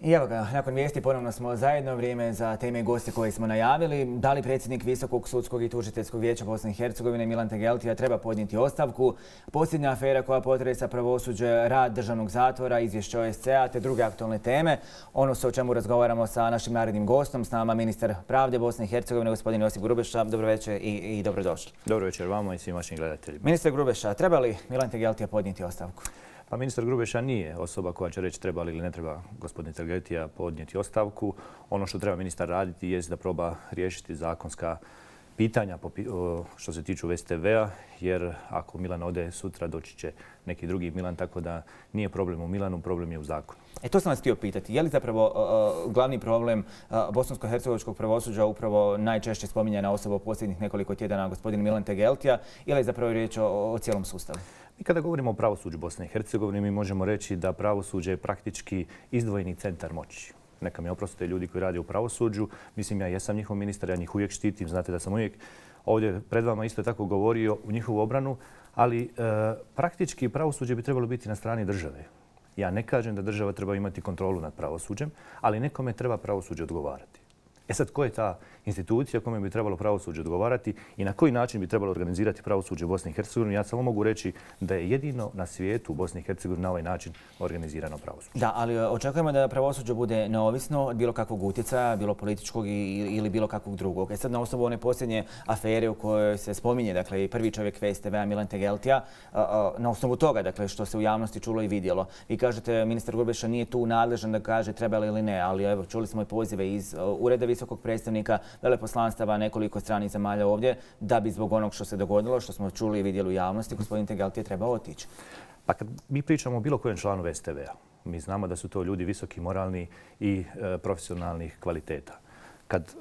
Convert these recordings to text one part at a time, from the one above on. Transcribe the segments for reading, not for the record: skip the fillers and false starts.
I evo ga, nakon vijesti ponovno smo zajedno, vrijeme za teme i goste koje smo najavili. Da li predsjednik Visokog sudskog i tužiteljskog vijeća Bosne i Hercegovine Milan Tegeltija treba podnijeti ostavku? Posljednja afera koja potresa pravosuđe, rad državnog zatvora, izvješće OSCE-a te druge aktualne teme. Ono o čemu razgovaramo sa našim narednim gostom, s nama ministar pravde Bosne i Hercegovine, gospodin Josip Grubeša. Dobro večer i dobrodošli. Dobro večer vama i svim vašim gledateljima. Ministar Grubeša, treba li Milan Tegeltija podnijeti ostavku? Pa ministar Grubeša nije osoba koja će reći treba li ili ne treba gospodin Tegeltija podnijeti ostavku. Ono što treba ministar raditi jest da proba riješiti zakonska pitanja što se tiču VSTV-a, jer ako Milan ode sutra doći će neki drugi Milan, tako da nije problem u Milanu, problem je u zakonu. To sam vas htio pitati. Je li zapravo glavni problem bosansko-hercegovačkog pravosuđa upravo najčešće spominjana osoba u posljednjih nekoliko tjedana gospodin Milan Tegeltija, ili je zapravo riječ o cijelom sustavu? Mi kada govorimo o pravosuđu Bosne i Hercegovine, mi možemo reći da pravosuđe je praktički izdvojeni centar moći. Neka mi oprostite ljudi koji rade u pravosuđu. Mislim, ja jesam njihov ministar, ja njih uvijek štitim. Znate da sam uvijek ovdje pred vama isto tako govorio u njihovu obranu, ali praktički pravosuđe bi trebalo biti na strani države. Ja ne kažem da država treba imati kontrolu nad pravosuđem, ali nekome treba pravosuđe odgovarati. Sad, ko je ta institucija kome bi trebalo pravosuđe odgovarati i na koji način bi trebalo organizirati pravosuđe u Bosni i Hercegovini? Ja samo mogu reći da je jedino na svijetu u Bosni i Hercegovini na ovaj način organizirano pravosuđe. Da, ali očekujemo da pravosuđe bude neovisno od bilo kakvog utjecaja, bilo političkog ili bilo kakvog drugog. Sad na osnovu one posljednje afere u kojoj se spominje, dakle, i prvi čovjek VSTV-a Milan Tegeltija, na osnovu toga, dakle, što se u javnosti čulo i vidjelo. Vi kažete, ministar Grubeša nije tu nadležan da kaže treba li ili ne, ali evo, čuli smo i pozive iz Ureda visokog predstavnika, veleposlanstava nekoliko stranih zemalja ovdje, da bi zbog onog što se dogodilo, što smo čuli i vidjeli u javnosti, gospodin Tegeltija treba otići. Pa kad mi pričamo o bilo kojem članu VSTV-a, mi znamo da su to ljudi visoki, moralni i profesionalnih kvaliteta. Kad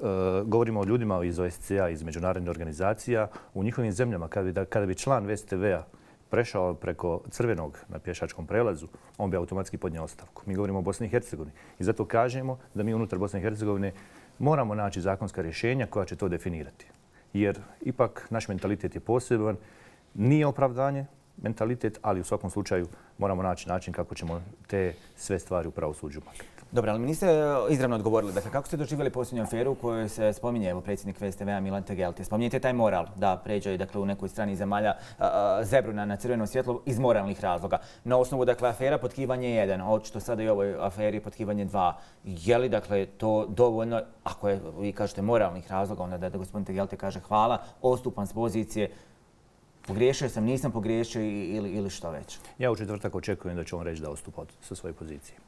govorimo o ljudima iz OSCE-a, iz međunarodnih organizacija, u njihovim zemljama, kada bi član VSTV-a prešao preko crvenog na pješačkom prelazu, on bi automatski podnio ostavku. Mi govorimo o Bosni i Hercegovini i zato kažemo da mi unutar Bosne i Hercegovine moramo naći zakonska rješenja koja će to definirati. Jer ipak naš mentalitet je poseban, nije opravdanje mentalitet, ali u svakom slučaju moramo naći način kako ćemo te sve stvari u pravosuđu maknuti. Dobro, ali mi niste izravno odgovorili. Dakle, kako ste doživjeli posljednju aferu u kojoj se spominje predsjednik VSTV-a Milan Tegeltija? Spominjete taj moral da pređe, dakle, u nekoj strani zemalja zebru na crveno svjetlo iz moralnih razloga. Na osnovu, dakle, afera potkivanje 1, a očito sada i ovoj aferi potkivanje 2. Je li, dakle, to dovoljno, ako je, vi kažete, moralnih razloga, onda da gospodin Tegeltija kaže hvala, odstupam s pozicije, pogriješio sam, nisam pogriješio ili što već? Ja u četvrtak očekujem da će on reći da odstupa sa svoje pozicije.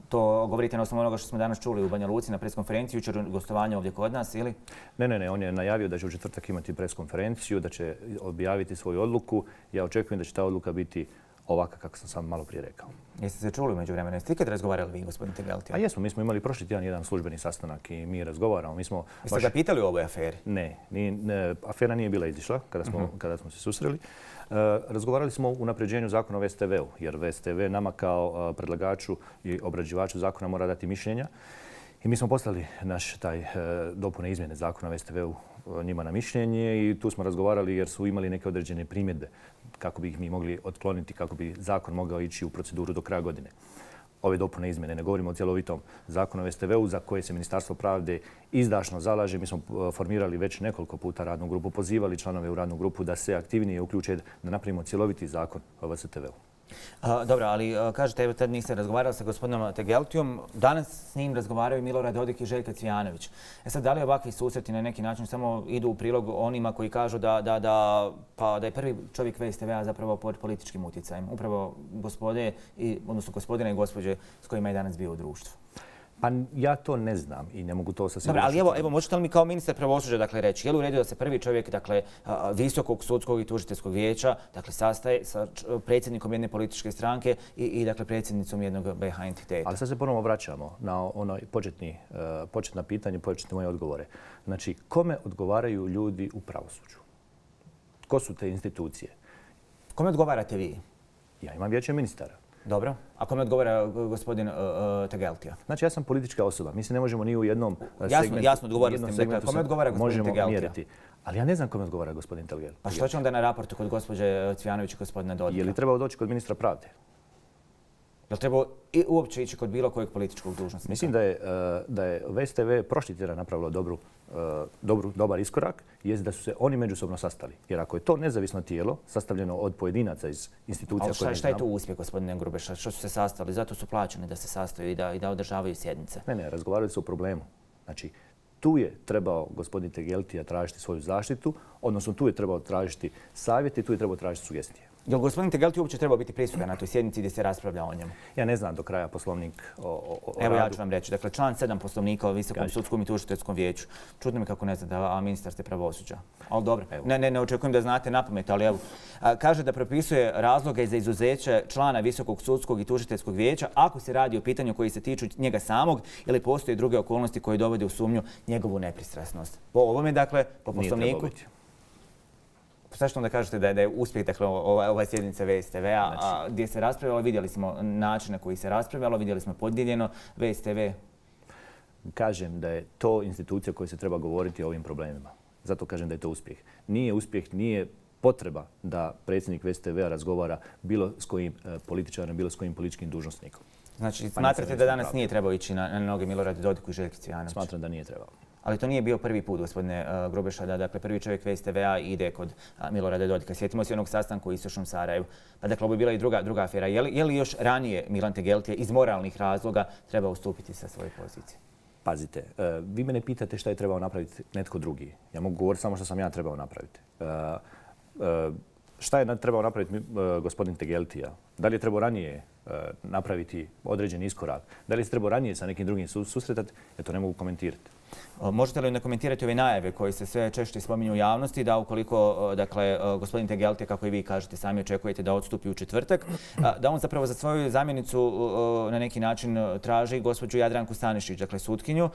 To govorite na osnovu onoga što smo danas čuli u Banja Luci na preskonferenciji, jučer gostovanje ovdje kod nas, ili? Ne, on je najavio da će u četvrtak imati preskonferenciju, da će objaviti svoju odluku. Ja očekujem da će ta odluka biti ovaka kako sam sam malo prije rekao. Jeste se čuli umeđu vremena? Jeste ikad razgovarali vi, gospodin Tegeltija? A jesmo, mi smo imali prošli tjedan jedan službeni sastanak i mi razgovaramo. Jeste ga pitali o ovoj aferi? Ne, afera nije bila izišla kada smo se susreli. Razgovarali smo o unapređenju zakona o VSTV-u, jer VSTV nama kao predlagaču i obrađivaču zakona mora dati mišljenja. I mi smo poslali naš taj dopune izmjene zakona o VSTV-u njima na mišljenje i tu smo razgovarali jer su imali neke određene primjedbe kako bi ih mi mogli otkloniti, kako bi zakon mogao ići u proceduru do kraja godine. Ove dopune izmjene, ne govorimo o cjelovitom zakonu o VSTV-u za koje se Ministarstvo pravde izdašno zalaže. Mi smo formirali već nekoliko puta radnu grupu, pozivali članove u radnu grupu da se aktivnije uključe da napravimo cjeloviti zakon o VSTV-u. Dobro, ali kažete, evo tad niste razgovarali sa gospodinom Tegeltijom. Danas s njim razgovaraju Milorad Dodik i Željko Cvijanović. Sad, da li ovakvi susreti na neki način samo idu u prilog onima koji kažu da je prvi čovjek VSTV-a zapravo pod političkim utjecajem? Upravo odnosno gospodina i gospođe s kojima je danas bio u društvu. Pa ja to ne znam i ne mogu to sa sigurnošću. Dobro, ali evo, možete li mi kao ministar pravosuđa, dakle, reći, je li u redu da se prvi čovjek, dakle, Visokog sudskog i tužiteljskog vijeća, dakle, sastaje sa predsjednikom jedne političke stranke i dakle, predsjednicom jednog BiH entiteta? Ali sad se ponovno vraćamo na ono početna pitanja, početne moje odgovore. Znači, kome odgovaraju ljudi u pravosuđu? Ko su te institucije? Kome odgovarate vi? Ja imam vijeće ministara. Dobro. A kome odgovara gospodin Tegeltija? Znači, ja sam politička osoba. Mi se ne možemo ni u jednom segmentu... Jasno, odgovorili ste mi. Kome odgovara gospodin Tegeltija? Mjeriti. Ali ja ne znam kome odgovara gospodin Tegeltija. Pa što će onda na raportu kod gospođe Cvijanović i gospodina Dodika? Je li trebao doći kod ministra pravde? Jel trebao uopće ići kod bilo kojeg političkog dužnosnika? Mislim da je VSTV prošli tjedan napravilo dobar iskorak, jest da su se oni međusobno sastali. Jer ako je to nezavisno tijelo, sastavljeno od pojedinaca iz institucija... Ali šta je to uspjeh, gospodine Grubeša? Što su se sastali? Zato su plaćeni da se sastaju i da održavaju sjednice. Ne, razgovarali su o problemu. Znači, tu je trebao gospodin Tegeltija tražiti svoju zaštitu, odnosno tu je trebao tražiti savjete i tu je trebao tražiti sugestije. Je li gospodin Tegeltija uopće trebao biti prisutan na toj sjednici gdje se raspravlja o njemu? Ja ne znam do kraja poslovnik o Evo radu. ja ću vam reći. Dakle, član 7 poslovnika o Visokom sudskom i tužiteljskom vijeću. Čudno mi kako ne znate, a ministar ste pravosuđa. Ali dobro, ne očekujem da znate napamet, ali evo. Kaže da propisuje razloge za izuzeće člana Visokog sudskog i tužiteljskog vijeća ako se radi o pitanju koji se tiču njega samog ili postoje druge okolnosti koje dovode u sumnju njegovu nepristrasnost. Po ovome, dakle, po poslovniku... Sad što onda kažete da je uspjeh, dakle, ova sjednica VSTV-a, gdje se raspravljalo, vidjeli smo način na koji se raspravljalo, vidjeli smo podijeljeno VSTV. Kažem da je to institucija koja se treba govoriti o ovim problemima. Zato kažem da je to uspjeh. Nije uspjeh, nije potreba da predsjednik VSTV-a razgovara bilo s kojim političarem, bilo s kojim političkim dužnosnikom. Znači, smatrate da danas nije trebao ići na noge Miloradu Dodiku i Željki Cvijanović? Smatram da nije trebao. Ali to nije bio prvi put, gospodine Grubeša, da dakle, prvi čovjek VSTV-a ide kod Milorada Dodika. Sjetimo se onog sastanka u istočnom Sarajevu. Pa dakle, ovo je bila i druga afera. Je li još ranije Milan Tegeltija iz moralnih razloga treba ustupiti sa svoje pozicije? Pazite, vi mene pitate šta je trebao napraviti netko drugi. Ja mogu govoriti samo što sam ja trebao napraviti. Šta je trebao napraviti gospodin Tegeltija? Da li je trebao ranije napraviti određen iskorak? Da li se trebao ranije sa nekim drugim susretati? Ja to ne mogu komentirati. Možete li onda komentirati ove najave koje se sve češće spominju u javnosti da ukoliko, dakle, gospodin Tegeltija, kako i vi kažete, sami očekujete da odstupi u četvrtak, da on zapravo za svoju zamjenicu na neki način traži gospođu Jadranku Stanišić, dakle sutkinju,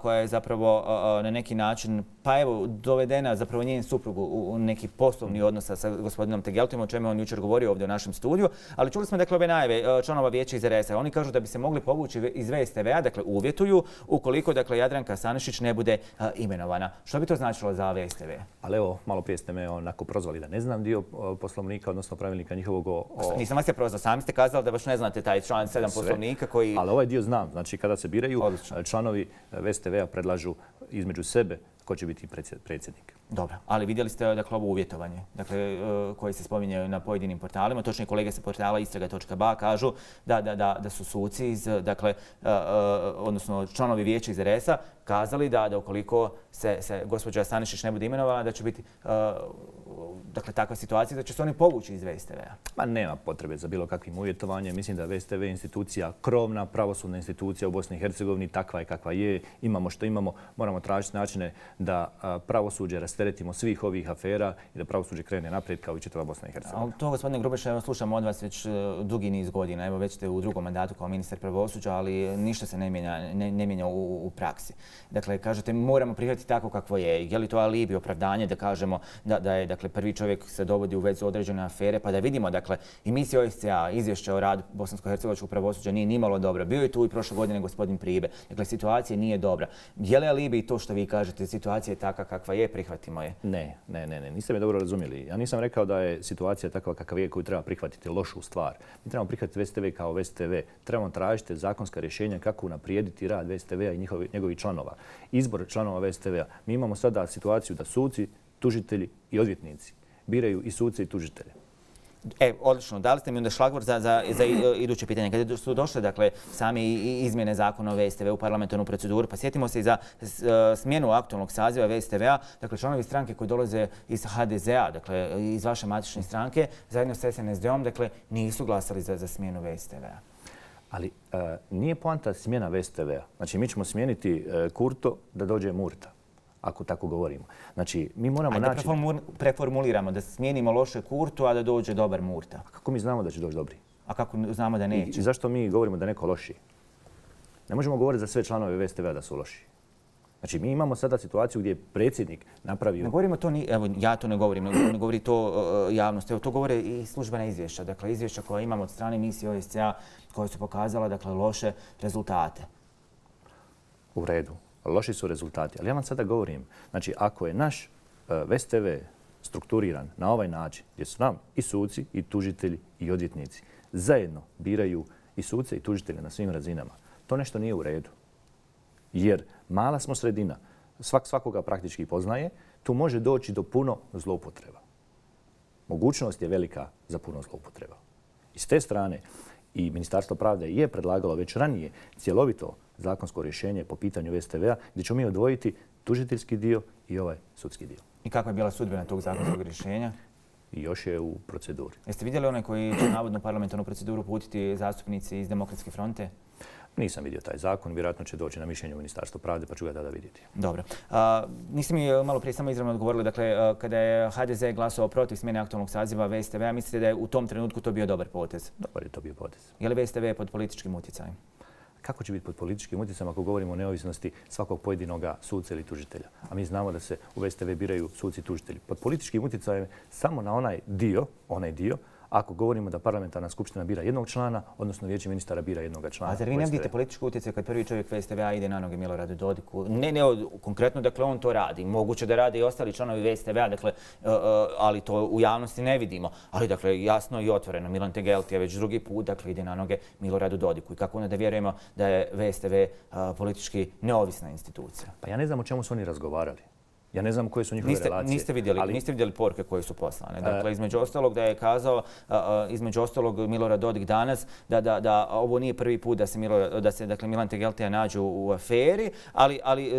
koja je zapravo na neki način, pa evo, dovedena zapravo njen suprug u neki poslovni odnos sa gospodinom Tegeltijom, o čemu on jučer govorio ovdje u našem studiju, ali čuli smo dakle ove najave članova vijeća iz RS-a. Oni kažu da bi se mogli povući iz VSTV-a, dakle uvjetuju, ukoliko dakle Jadranka Stanišić ne bude imenovana. Što bi to značilo za VSTV? Ali evo, malo prije ste me onako prozvali da ne znam dio poslovnika, odnosno pravilnika njihovog Nisam vas je prozvao, sami ste kazali da baš ne znate taj član 7 poslovnika koji... Ali ovaj dio znam. Znači, kada se biraju, članovi VSTV-a predlažu između sebe ko će biti predsjednik. Dobro, ali vidjeli ste dakle, ovo uvjetovanje koje se spominje na pojedinim portalima. Točnije kolege sa portala istraga.ba kažu da su suci iz, dakle, odnosno članovi vijeća iz RS-a kazali da ukoliko se gospođa Stanišić ne bude imenovana, da će biti dakle, takva situacija da će se oni povući iz VSTV-a. Ma nema potrebe za bilo kakvim uvjetovanjem. Mislim da VSTV je institucija, krovna pravosudna institucija u Bosni i Hercegovini, takva je kakva je. Imamo što imamo. Moramo tražiti načine da pravosuđe rasteretimo svih ovih afera i da pravosuđe krene naprijed kao i čitava Bosna i Hercegovina. To, gospodine Grubeša, evo slušamo od vas već dugi niz godina. Evo već ste u drugom mandatu kao ministar pravosuđa, ali ništa se ne mijenja u praksi. Dakle, kažete moramo prihvatiti tako kakvo je. Je li to alibi, opravdanje da kažemo da je dakle, prvi čovjek se dovodi u vezu određene afere, pa da vidimo, dakle, i misija OSCE-a, izvješće o radu bosansko-hercegovačkog pravosuđa nije nimalo dobro. Bio je tu i prošle godine gospodin Pribe. Dakle, situacija nije dobra. Je li alibi to što vi kažete, situacija je takva kakva je, prihvatimo je? Ne. Niste me dobro razumjeli. Ja nisam rekao da je situacija takva kakva je koju treba prihvatiti lošu stvar. Mi trebamo prihvatiti VSTV kao VSTV. Trebamo tražiti zakonska rješenja kako unaprijediti rad VSTV-a i njegovih članova. Izbor članova VSTV-a. Mi imamo sada situaciju da suci, tužitelji i odvjetnici biraju i suce i tužitelje. Odlično. Dali ste mi onda šlagvort za iduće pitanje. Kada su došle dakle, sami izmjene zakona o VSTV u parlamentarnu proceduru, pa sjetimo se i za smjenu aktualnog saziva VSTV-a, dakle članovi stranke koji dolaze iz HDZ-a, dakle iz vaše matične stranke, zajedno s SNSD-om, dakle nisu glasali za smjenu VSTV-a. Ali nije poanta smjena VSTV-a. Znači mi ćemo smijeniti Kurto da dođe Murta, ako tako govorimo. Znači, mi moramo naći... Ajde preformuliramo, da smijenimo loše Kurtu, a da dođe dobar Murta. A kako mi znamo da će doći dobri? A kako znamo da neće? I zašto mi govorimo da neko loši? Ne možemo govoriti za sve članove VSTV-a da su loši. Znači, mi imamo sada situaciju gdje je predsjednik napravio... Ne govorimo to, evo, ja to ne govorim, ne govori to javnost. Evo, to govore i službena izvješća. Dakle, izvješća koja imamo od strane misije OSCE-a koja su pokazala, dakle, loše rezultate. U redu. Loši su rezultati. Ali ja vam sada govorim, znači ako je naš VSTV strukturiran na ovaj način, gdje su nam i suci, i tužitelji, i odvjetnici, zajedno biraju i suce i tužitelje na svim razinama. To nešto nije u redu. Jer mala smo sredina, svakoga praktički poznaje, tu može doći do puno zloupotreba. Mogućnost je velika za puno zloupotreba. I s te strane i Ministarstvo pravde je predlagalo već ranije cjelovito zakonsko rješenje po pitanju VSTV-a gdje ćemo mi odvojiti tužiteljski dio i ovaj sudski dio. I kakva je bila sudbina tog zakonskog rješenja? I još je u proceduri. Jeste vidjeli onaj koji će navodno parlamentarnu proceduru putiti zastupnici iz Demokratske fronte? Nisam vidio taj zakon, vjerojatno će doći na mišljenje u Ministarstvu pravde pa ću ga tada vidjeti. Dobro. Niste mi malo prije samo izravno odgovorili, dakle, kada je HDZ glasovao protiv smjene aktualnog saziva VSTV-a, mislite da je u tom trenutku to bio dobar potez? Dobar je to bio potez. Je li VSTV pod političkim utjecajem? Kako će biti pod političkim utjecajem ako govorimo o neovisnosti svakog pojedinoga suca ili tužitelja? A mi znamo da se u VSTV biraju suci i tužitelji. Pod političkim utjecajem samo na onaj dio, ako govorimo da parlamentarna skupština bira jednog člana, odnosno vijeće ministara bira jednog člana. A zar vi ne vidite politički utjecaj kad prvi čovjek VSTV-a ide na noge Miloradu Dodiku? Ne konkretno, dakle, on to radi. Moguće da rade i ostali članovi VSTV-a, dakle, ali to u javnosti ne vidimo. Ali, dakle, jasno i otvoreno, Milan Tegeltija već drugi put, dakle, ide na noge Miloradu Dodiku. I kako onda da vjerujemo da je VSTV politički neovisna institucija? Pa ja ne znam o čemu su oni razgovarali. Ja ne znam koje su njihove relacije. Niste vidjeli poruke koje su poslane. Dakle, između ostalog da je kazao, između ostalog Milorad Dodik danas, da ovo nije prvi put da se dakle, Milan Tegeltija nađe u aferi, ali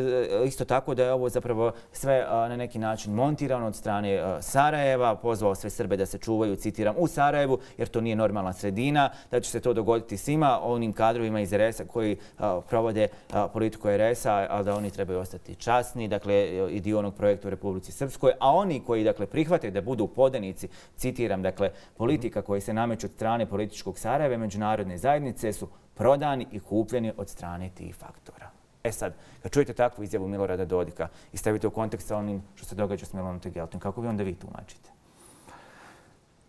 isto tako da je ovo zapravo sve na neki način montirano od strane Sarajeva, pozvao sve Srbe da se čuvaju, citiram, u Sarajevu, jer to nije normalna sredina, da će se to dogoditi svima onim kadrovima iz RS-a koji provode politiku RS-a, ali da oni trebaju ostati časni, dakle, i dio onog projekta u Republici Srpskoj, a oni koji dakle prihvate da budu podanici, citiram, dakle politika koji se nameću od strane političkog Sarajeva i međunarodne zajednice su prodani i kupljeni od strane tih faktora. E sad, kad čujete takvu izjavu Milorada Dodika i stavite u kontekst sa onim što se događa s Milanom Tegeltijom, kako vi onda vi tumačite?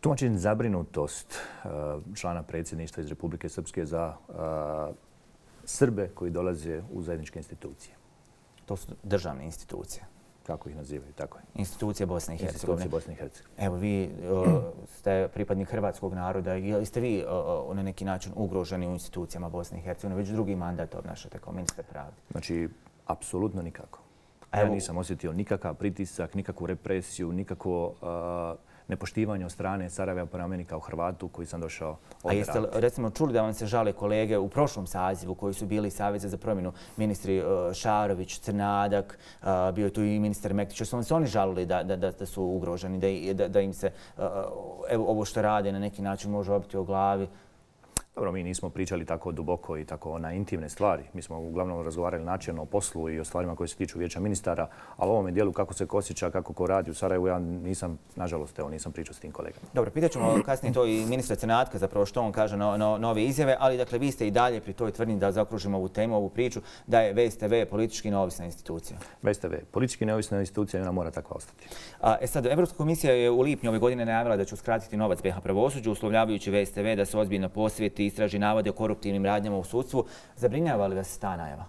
Tumačim zabrinutost člana predsjedništva iz Republike Srpske za Srbe koji dolaze u zajedničke institucije. To su državne institucije. Kako ih nazivaju, tako je. Institucije Bosne i Hercegovine. Institucije Bosne i Hercegovine. Evo, vi ste pripadnik hrvatskog naroda. Jeste vi na neki način ugroženi u institucijama Bosne i Hercegovine? Već drugi mandat obnašate kao ministar pravde. Znači, apsolutno nikako. Ja nisam osjetio nikakav pritisak, nikakvu represiju, nikakvo nepoštivanje od strane Sarajeva prema meni kao Hrvatu koji sam došao ovdje raditi. A jeste recimo čuli da vam se žale kolege u prošlom sazivu koji su bili Saveza za promjenu, ministri Šarović, Crnadak, bio je tu i ministar Mektić, su vam se oni žalili da su ugroženi, da im se ovo što rade na neki način može obiti o glavi? Dobro, mi nismo pričali tako duboko i tako na intimne stvari. Mi smo uglavnom razgovarali načelno o poslu i o stvarima koje se tiču vijeća ministara, ali u ovome dijelu kako se osjeća, kako ko radi u Sarajevu, ja nisam, nažalost, nisam pričao s tim kolegama. Dobro, pitat ćemo kasnije to i ministra Crnatka, zapravo što on kaže na ove izjave, ali dakle vi ste i dalje pri toj tvrdnji da zaokružimo ovu temu, ovu priču, da je VSTV politički neovisna institucija. VSTV politički neovisna institucija i ona mora takva ostati. Sad, Evropska komisija je u lipnju ove godine najavila da će uskratiti novac BiH pravosuđu, uslovljavajući VSTV da se ozbiljno posvijeti istraži navode o koruptivnim radnjama u sudstvu. Zabrinjava li vas ta najava?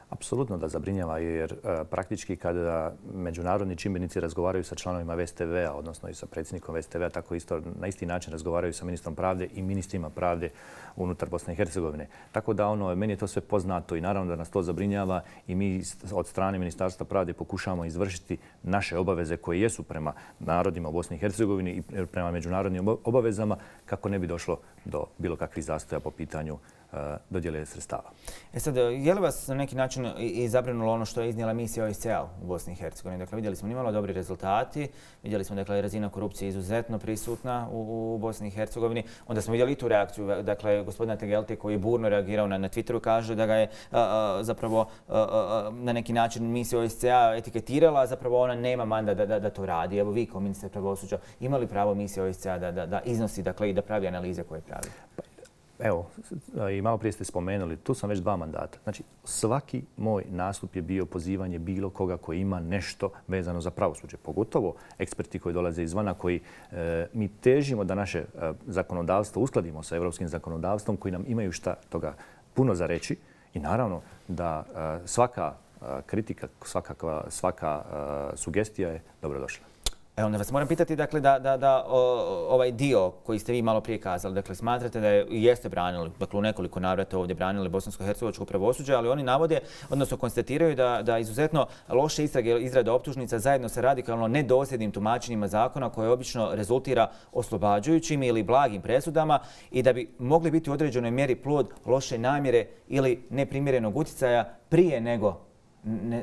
Apsolutno da zabrinjava, jer praktički kada međunarodni čimbenici razgovaraju sa članovima VSTV-a, odnosno i sa predsjednikom VSTV-a, tako isto na isti način razgovaraju sa ministrom pravde i ministrima pravde unutar Bosne i Hercegovine. Tako da meni je to sve poznato i naravno da nas to zabrinjava i mi od strane Ministarstva pravde pokušavamo izvršiti naše obaveze koje jesu prema narodima u Bosni i Hercegovini i prema međunarodnim obavezama kako ne bi došlo do bilo kakvih zastoja po pitanju dodjele sredstava. Sad, je li vas na neki način i zabrinulo ono što je iznijela misija OSCE-a u Bosni i Hercegovini? Dakle, vidjeli smo nimalo dobri rezultati, vidjeli smo da je razina korupcije izuzetno prisutna u Bosni i Hercegovini. Onda smo vidjeli i tu reakciju, dakle, gospodina Tegeltija koji je burno reagirao na Twitteru, kaže da ga je zapravo na neki način misija OSCE-a etiketirala, zapravo ona nema mandat da to radi. Evo vi kao ministar pravosuđa imali pravo misija OSCE-a da iznosi, dakle, i da pravi analize koje pravi? Evo, i malo prije ste spomenuli, tu sam već 2 mandata. Znači, svaki moj nastup je bio pozivanje bilo koga koji ima nešto vezano za pravosuđe. Pogotovo eksperti koji dolaze izvana, koji mi težimo da naše zakonodavstvo uskladimo sa evropskim zakonodavstvom, koji nam imaju šta toga puno za reći. I naravno da svaka kritika, svaka sugestija je dobrodošla. Onda vas moram pitati dakle, da ovaj dio koji ste vi malo prije kazali, dakle smatrate da jeste branili, dakle u nekoliko navrata ovdje branili bosansko-hercegovačko pravosuđe, ali oni navode, odnosno konstatiraju da izuzetno loše istrage izrada optužnica zajedno sa radikalno nedosljednim tumačenjima zakona koje obično rezultira oslobađajućim ili blagim presudama i da bi mogli biti u određenoj mjeri plod loše namjere ili neprimjerenog utjecaja prije nego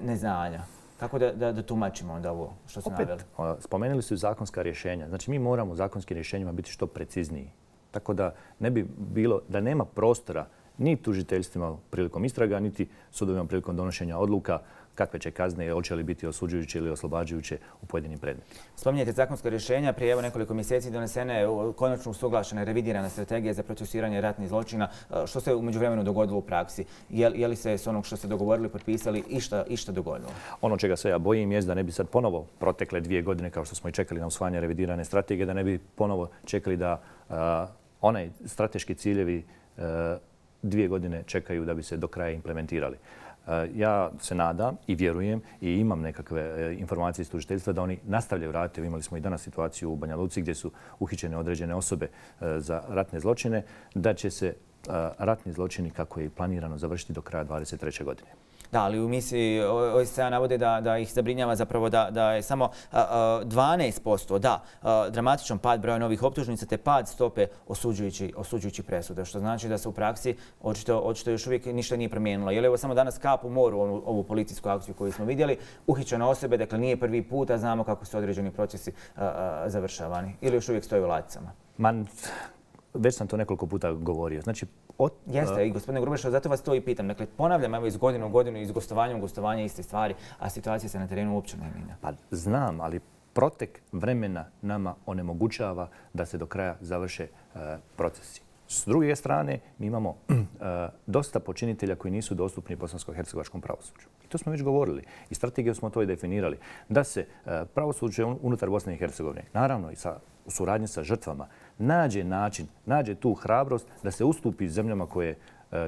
neznanja. Kako da tumačimo onda ovo što ste naveli? Spomenuli su zakonska rješenja. Znači mi moramo u zakonskim rješenjima biti što precizniji. Tako da ne bi bilo, da nema prostora ni tužiteljstvima prilikom istraga, niti sudovima prilikom donošenja odluka kakve će kazne, hoće li biti osuđujuće ili oslobađajuće u pojedinim predmetima. Spominjete zakonska rješenja. Prije nekoliko mjeseci donesena je konačno usuglašena i revidirana strategija za procesuiranje ratnih zločina. Što se u međuvremenu dogodilo u praksi? Je li se s onog što ste dogovorili, potpisali, išta dogodilo? Ono čega se ja bojim je da ne bi sad ponovo protekle 2 godine, kao što smo i čekali na usvajanje revidirane strategije, da ne bi ponovo čekali da onaj strateški ciljevi 2 godine čekaju da bi se do kraja implementirali. Ja se nadam i vjerujem i imam nekakve informacije iz tužiteljstva da oni nastavljaju raditi. Imali smo i danas situaciju u Banja Luci gdje su uhićene određene osobe za ratne zločine, da će se ratni zločini kako je i planirano završiti do kraja 2023. godine. Da, ali u misiji OSCE navode da ih zabrinjava zapravo da je samo 12%, dramatičan pad broja novih optužnica te pad stope osuđujućih presuda, što znači da se u praksi očito još uvijek ništa nije promijenilo. Je li ovo samo danas kap u moru ovu policijsku akciju koju smo vidjeli? Uhićene osobe, dakle nije prvi put, a znamo kako su određeni procesi završavani. Ili još uvijek stoji u ladicama? Već sam to nekoliko puta govorio. Znači, jeste, i gospodine Grubešov, zato vas to i pitam. Dakle, ponavljam, evo iz godine u godinu, iz gostovanja u gostovanje iste stvari, a situacija se na terenu uopće ne mijenja. Pa znam, ali protek vremena nama onemogućava da se do kraja završe procesi. S druge strane, mi imamo dosta počinitelja koji nisu dostupni bosansko-hercegovačkom pravosuđu. I to smo već govorili. I strategijom smo to i definirali. Da se pravosuđe unutar Bosne i Hercegovine, naravno i u suradnji sa žrtvama, nađe način, nađe tu hrabrost da se ustupi zemljama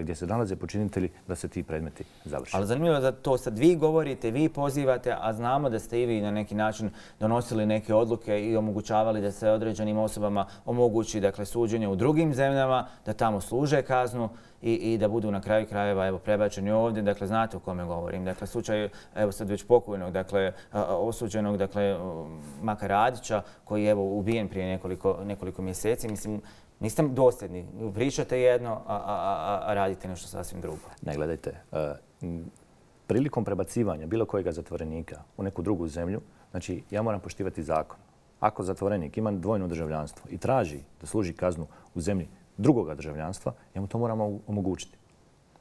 gdje se nalaze počinitelji, da se ti predmeti završe. Ali zanimljivo je da to sad vi govorite, vi pozivate, a znamo da ste i vi na neki način donosili neke odluke i omogućavali da se određenim osobama omogući suđenje u drugim zemljama, da tamo služe kaznu i da budu na kraju krajeva prebačeni ovdje. Dakle, znate o kome govorim. Dakle, slučaj sad već pokojnog, osuđenog Maka Radića, koji je ubijen prije nekoliko mjeseci. Mislim, niste dosljedni. Pričate jedno, a radite nešto sasvim drugo. Ne, gledajte. Prilikom prebacivanja bilo kojega zatvorenika u neku drugu zemlju, znači ja moram poštivati zakon. Ako zatvorenik ima dvojno državljanstvo i traži da služi kaznu u zemlji drugoga državljanstva, ja mu to moramo omogućiti.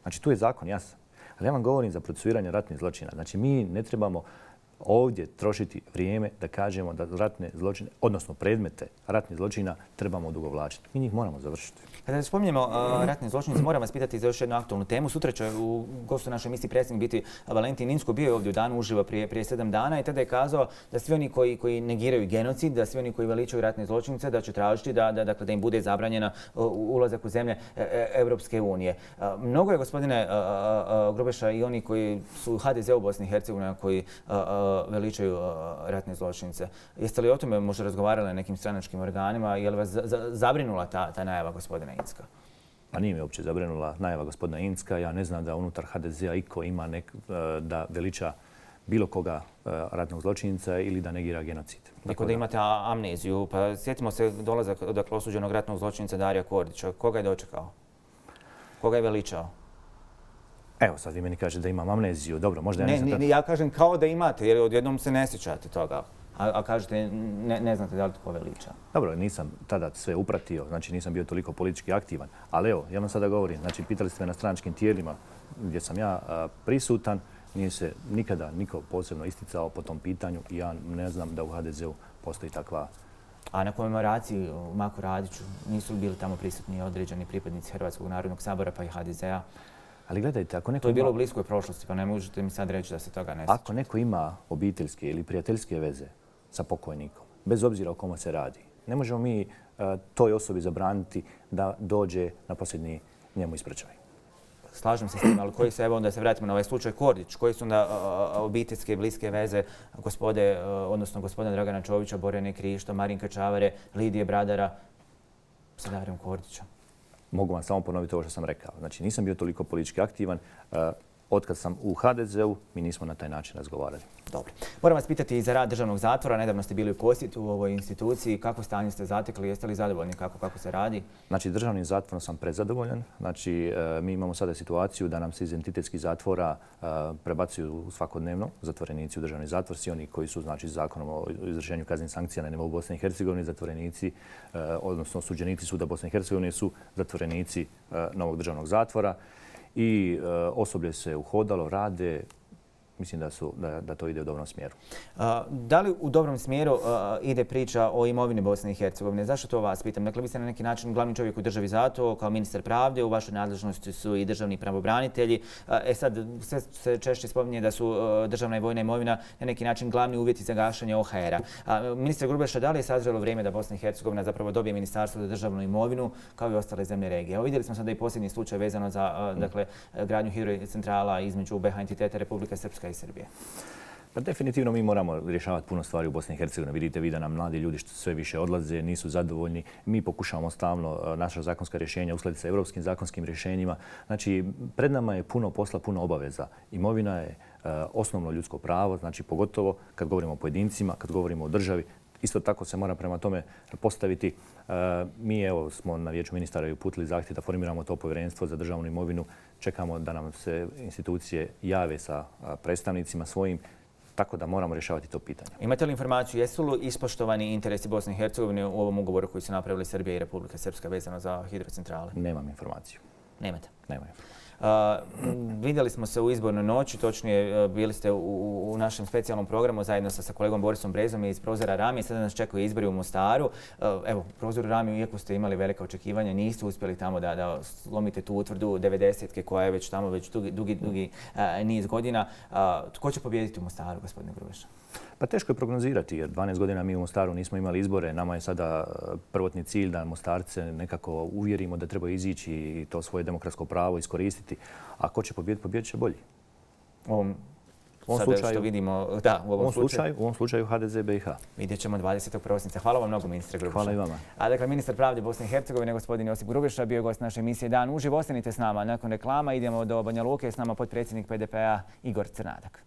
Znači tu je zakon jasan. Ali ja vam govorim za procesuiranje ratnih zločina. Znači mi ne trebamo ovdje trošiti vrijeme da kažemo da ratne zločine, odnosno predmete ratnih zločina trebamo odugovlačiti. Mi njih moramo završiti. Kada spominjemo ratne zločine, moram vas pitati za još jednu aktualnu temu. Sutra će u gostu našoj emisiji predsjednik biti Valentin Inzko. Bio je ovdje u Danu uživo prije 7 dana i tada je kazao da svi oni koji negiraju genocid, da svi oni koji veličaju ratne zločinice, da će tražiti da im bude zabranjena ulazak u zemlje Europske unije. Mnogo je, gospodine Grubeša, i oni koji su u HDZ u Bosni i Hercegovini koji veličaju ratne zločinice. Jeste li o tome možda razgovarali na nekim stranačkim organima? Je li vas zabrinula ta najava gospodina Inzka? Pa nije me uopće zabrinula najava gospodina Inzka. Ja ne znam da unutar HDZ-a iko ima da veliča bilo koga ratnog zločinca ili da negira genocid. Tako da imate amneziju. Pa sjetimo se dolazak osuđenog ratnog zločinca Darija Kordića. Koga je dočekao? Koga je veličao? Evo, sad vi meni kažete da imam amneziju. Dobro, možda ja nisam... Ja kažem kao da imate, jer odjednom se ne sjećate toga. A kažete, ne znate da li to veliča. Dobro, nisam tada sve upratio, znači nisam bio toliko politički aktivan. Ali evo, ja vam sada govorim, znači pitali ste me na stranačkim tijelima gdje sam ja prisutan, nije se nikada niko posebno isticao po tom pitanju i ja ne znam da u HDZ-u postoji takva... A na komemoraciji u Maku Radiću nisu li bili tamo prisutni određeni pripadnici Hrvatskog narodnog sabora pa i HDZ-a? Ali gledajte, ako neko... To je bilo u bliskoj prošlosti, pa ne možete mi sad reći da se toga ne sjeća. Ako neko ima obiteljske ili prijateljske veze sa pokojnikom, bez obzira o kome se radi, ne možemo mi toj osobi zabraniti da dođe na posljednji njemu ispraćaj. slažem se s tim, ali koji su, evo onda se vratimo na ovaj slučaj Kordić, koji su onda obiteljske i bliske veze odnosno gospodina Dragana Čovića, Borjane Krišto, Marinka Čavare, Lidije Bradara sa Davorom Kordićem? Mogu vam samo ponoviti ovo što sam rekao. Znači, nisam bio toliko politički aktivan. Otkad sam u HDZ-u, mi nismo na taj način razgovarali. Dobro. Moram vas pitati i za rad državnog zatvora. Nedavno ste bili u posjetu u ovoj instituciji. Kako stanje ste zatekli? Jeste li zadovoljni kako se radi? Znači, državnim zatvorom sam prezadovoljan. Znači, mi imamo sada situaciju da nam se iz entitetskih zatvora prebacuju svakodnevno zatvorenici u državni zatvor. Svi oni koji su, znači, zakonom o izvršenju kaznenih sankcija na nivou Bosne i Hercegovine, zatvorenici, odnosno osuđenici suda Bosne i Hercegovine su zatvorenici novog državnog zatvora. I osoblje se uhodalo, rade. Mislim da to ide u dobrom smjeru. Da li u dobrom smjeru ide priča o imovini Bosne i Hercegovine? Zašto to vas pitam? Dakle, vi ste na neki način glavni čovjek u državi zato, kao ministar pravde, u vašoj nadležnosti su i državni pravobranitelji. Sad, sve se češće spominje da su državna i vojna imovina na neki način glavni uvjeti za gašanje OHR-a. Ministre Grubeša, da li je sazrelo vrijeme da Bosna i Hercegovina zapravo dobije ministarstvo za državnu imovinu kao i ostale zemlje regije? Evo, vidjeli smo sada i posljednji slučaj vezano za gradnju hidrocentrala između BiH entiteta Republike Srpska i Srbije. Pa definitivno mi moramo rješavati puno stvari u Bosni i Hercegovini. Vidite vi da nam mladi ljudi sve više odlaze, nisu zadovoljni. Mi pokušavamo stalno naša zakonska rješenja uskladiti sa europskim zakonskim rješenjima. Znači, pred nama je puno posla, puno obaveza. Imovina je osnovno ljudsko pravo, znači pogotovo kad govorimo o pojedincima, kad govorimo o državi. Isto tako se mora prema tome postaviti. Mi evo smo na Vijeću ministara uputili zahtjev da formiramo to povjerenstvo za državnu imovinu. Čekamo da nam se institucije jave sa predstavnicima svojim, tako da moramo rješavati to pitanje. Imate li informaciju, jesu li ispoštovani interesi Bosne i Hercegovine u ovom ugovoru koji su napravili Srbija i Republika Srpska vezano za hidrocentrale? Nemam informaciju. Nemate? Nemam informaciju. Vidjeli smo se u izbornoj noći, točnije bili ste u našem specijalnom programu zajedno sa kolegom Borisom Brezom iz Prozora Rami. Sada nas čekaju izbori u Mostaru. Evo, u Prozoru Rami, iako ste imali velika očekivanja, niste uspjeli tamo da slomite tu utvrdu 90-ke koja je već tamo dugi niz godina. Tko će pobijediti u Mostaru, gospodine Grubeša? Pa teško je prognozirati jer 12 godina mi u Mostaru nismo imali izbore. Nama je sada prvotni cilj da Mostarce nekako uvjerimo da treba izići i to svoje demokratsko pravo iskoristiti. A ko će pobijediti, pobijedit će bolji. U ovom slučaju HDZ BiH. Vidjet ćemo 20. prosinca. Hvala vam mnogo, ministre Grubeša. Hvala i vama. A dakle, ministar pravde Bosne i Hercegovine, gospodin Josip Grubeša, bio je gost naše emisije Dan uživo. Ostanite s nama. Nakon reklama idemo do Banja Luke. S nama potpredsjednik PDP-a Igor Crnadak.